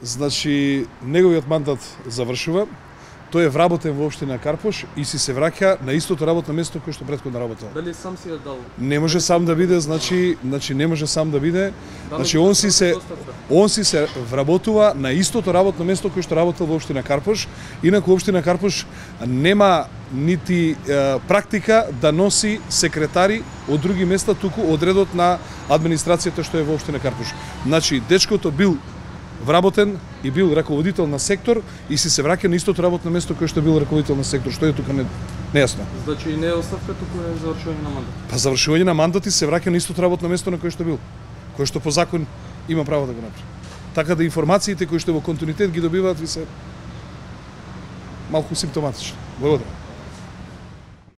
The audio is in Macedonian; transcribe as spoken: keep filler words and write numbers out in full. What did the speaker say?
Значи, неговиот мандат завршува. Тој е вработен во општина Карпош и си се враќа на истото работно место кој што претходно работел. Дали сам си ја дал? Не може сам да биде, значи, значи не може сам да биде. Значи он си се он си се вработува на истото работно место кој што работел во општина Карпош. Инаку општина Карпош нема нити е, практика да носи секретари од други места, туку одредот на администрацијата што е во општина Карпош. Значи дечкото бил вработен и бил раководител на сектор и си се враќа на истото работно место кој што бил раководител на сектор, што е тука не нејасно. Значи не е оставка, туку е завршување на мандат. Па завршување на мандат и се враќа на истото работно место на кој што бил, кој што по закон има право да го направи. Така да информациите кои што во континуитет ги добиваат ви се малку симптоматични. Благодарам.